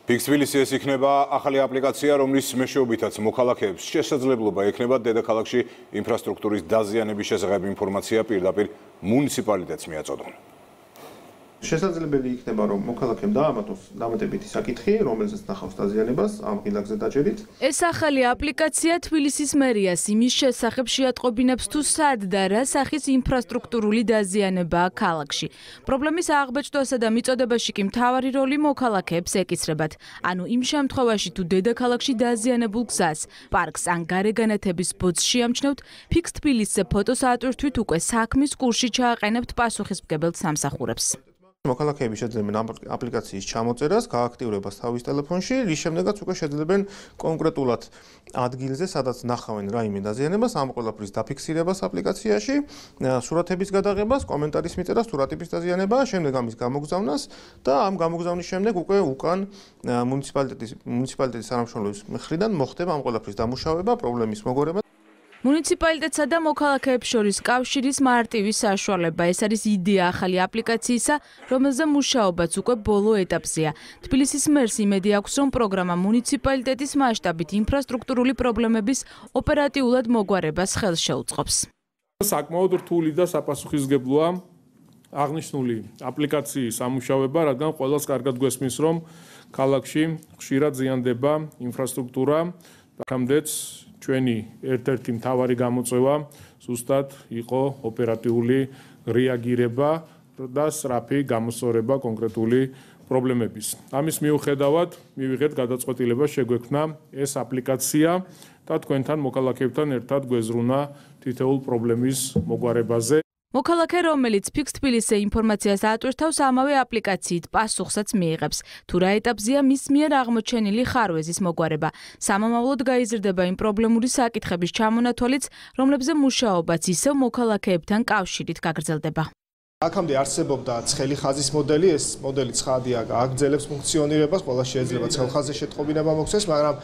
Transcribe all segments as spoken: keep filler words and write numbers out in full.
ფიქს თბილისი ეს იქნება ახალი აპლიკაცია, რომლის მეშვეობითაც მოქალაქეებს შესაძლებლობა ექნება დედაქალაქში ინფრასტრუქტურის დაზიანების შესახებ ინფორმაცია პირდაპირ მუნიციპალიტეტს მიაწოდონ. შესაძლებელი იქნება, რომ მოქალაქემ დაამატოს დამატებითი საკითხი, რომელზეც ნახავს დაზიანებას ამ ღილაკზე დაჯერით. ეს ახალი აპლიკაცია თბილისის მერიას იმის შესახებ შეატყობინებს, თუ სად და რა სახის ინფრასტრუქტურული დაზიანებაა ქალაქში. პრობლემის აღბეჭდვასა და მიწოდებაში კი მთავარი როლი მოქალაქეებს ეკისრებათ. ანუ იმ შემთხვევაში, თუ დედაქალაქში დაზიანებულ გზას, პარკს ან გარეგანათების ბოძს შეამჩნევთ, ფიქს თბილისზე ფოტოს ატვირთვით უკვე საქმის კურსში ჩააყენებთ პასუხისმგებელ სამსახურებს. მოქალაქეები შეძლებენ აპლიკაციის ჩამოწერას, გააქტიურებას თავის ტელეფონში, რის შემდეგაც უკვე შეძლებენ კონკრეტულად ადგილზე, სადაც ნახავენ რაიმე დაზიანებას, ამ ყველაფრის დაფიქსირებას აპლიკაციაში, სურათების გადაღებას, კომენტარის მიწერას, თუ რა ტიპის დაზიანებაა, შემდეგ ამის გამოგზავნას და ამ გამოგზავნის შემდეგ უკვე უკან მუნიციპალიტეტის მუნიციპალიტეტის თანამშრომლების მხრიდან მოხდება ამ ყველაფრის დამუშავება, პრობლემის მოგორება. მუნიციპალიტეტსა და მოქალაქეებს შორის კავშირის მარტივი საშუალება. ეს არის იდეა ახალი აპლიკაციისა, რომელზე მუშაობაც უკვე ბოლო ეტაპზეა. თბილისის მერს იმედი აქვს, რომ პროგრამა მუნიციპალიტეტის მასშტაბით ინფრასტრუქტურული პრობლემების ოპერატიულად მოგვარებას ხელს შეუწყობს. საკმაოდ რთული და საფასუხისმგებლოა აღნიშნული აპლიკაციის ამუშავება, რადგან ყველას კარგად გვესმის, რომ ქალაქში ხშირად ზიანდება ინფრასტრუქტურა, აქამდეც ჩვენი ერთ-ერთი მთავარი გამოწვევა ზუსტად იყო ოპერატიული რეაგირება და სწრაფი გამოსწორება კონკრეტული პრობლემების. ამის მიუხედავად მივიღეთ გადაწყვეტილება შეგვექმნა ეს აპლიკაცია და თქვენთან მოქალაქეებთან ერთად გვეზრუნა თითოეულ პრობლემის მოგვარებაზე. მოქალაქე, რომელიც ფიქს თბილისზე ინფორმაციას ატვირთავს, ამავე აპლიკაციით პასუხსაც მიიღებს. თუ რა ეტაპზეა მის მიერ აღმოჩენილი ხარვეზის მოგვარება. სამომავლოდ გაიზრდება იმ პრობლემური საკითხების ჩამონათვალიც, რომლებზე მუშაობაც ისევ მოქალაქეებთან კავშირით გაგრძელდება. აქამდე არსებობდა ცხელი ხაზის მოდელი, ეს მოდელი ცხადია, აგრძელებს ფუნქციონირებას, ყველა შეიძლება ცხელ ხაზზე შეტყობინება მოხდეს, მაგრამ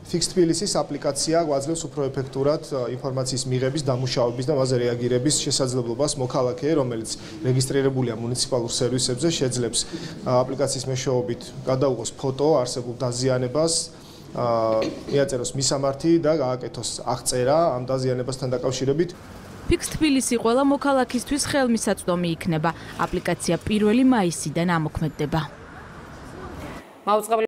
ფიქს თბილისის აპლიკაცია გვაძლევს უფრო ეფექტურად ინფორმაციის მიღების, დამუშავების და მასზე რეაგირების შესაძლებლობას. მოქალაქე, რომელიც რეგისტრირებულია მუნიციპალურ სერვისებზე, შეძლებს აპლიკაციის მეშვეობით გადაუღოს ფოტო არსებულ დაზიანებას, მიაწეროს მისამართი და გააკეთოს აღწერა ამ დაზიანებასთან დაკავშირებით. ფიქს თბილისი ყველა მოქალაქისთვის ხელმისაწვდომი იქნება. აპლიკაცია პირველი მაისიდან ამოქმედდება.